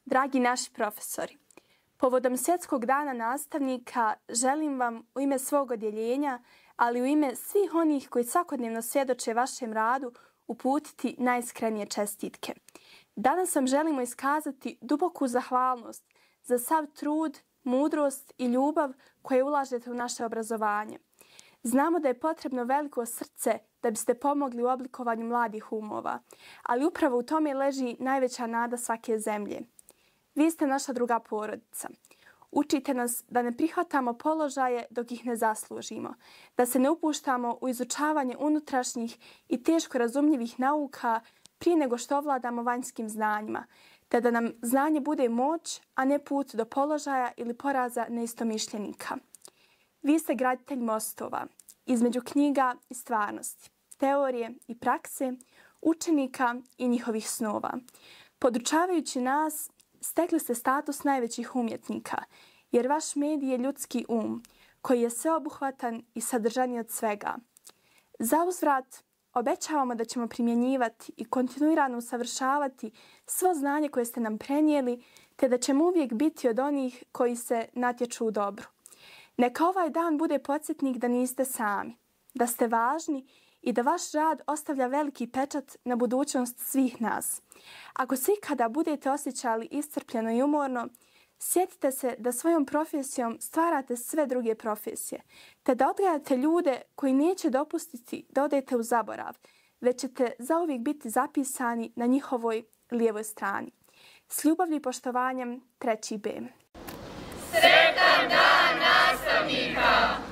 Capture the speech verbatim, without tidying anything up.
Dragi naši profesori, povodom Svjetskog dana nastavnika želim vam u ime svog odjeljenja, ali u ime svih onih koji svakodnevno svjedoče vašem radu, uputiti najiskrenije čestitke. Danas vam želimo iskazati duboku zahvalnost za sav trud, mudrost i ljubav koje ulažete u naše obrazovanje. Znamo da je potrebno veliko srce da biste pomogli u oblikovanju mladih umova, ali upravo u tome leži najveća nada svake zemlje. Vi ste naša druga porodica. Učite nas da ne prihvatamo položaje dok ih ne zaslužimo, da se ne upuštamo u izučavanje unutrašnjih i teško razumljivih nauka prije nego što ovladamo vanjskim znanjima, te da nam znanje bude moć, a ne put do položaja ili poraza neistomišljenika. Vi ste graditelj mostova između knjiga i stvarnosti, teorije i prakse, učenika i njihovih snova. Podučavajući nas, stekli ste status najvećih umjetnika, jer vaš medij je ljudski um, koji je sveobuhvatan i sadržaniji od svega. Za uzvrat, obećavamo da ćemo primjenjivati i kontinuirano usavršavati svo znanje koje ste nam prenijeli, te da ćemo uvijek biti od onih koji se natječu u dobru. Neka ovaj dan bude podsjetnik da niste sami, da ste važni i da vaš rad ostavlja veliki pečat na budućnost svih nas. Ako se ikada budete osjećali iscrpljeno i umorno, sjetite se da svojom profesijom stvarate sve druge profesije, te da odgajate ljude koji neće dopustiti da odete u zaborav, već ćete zauvijek biti zapisani na njihovoj lijevoj strani. S ljubavlju i poštovanjem, treći B. Sretan dan nastavnika!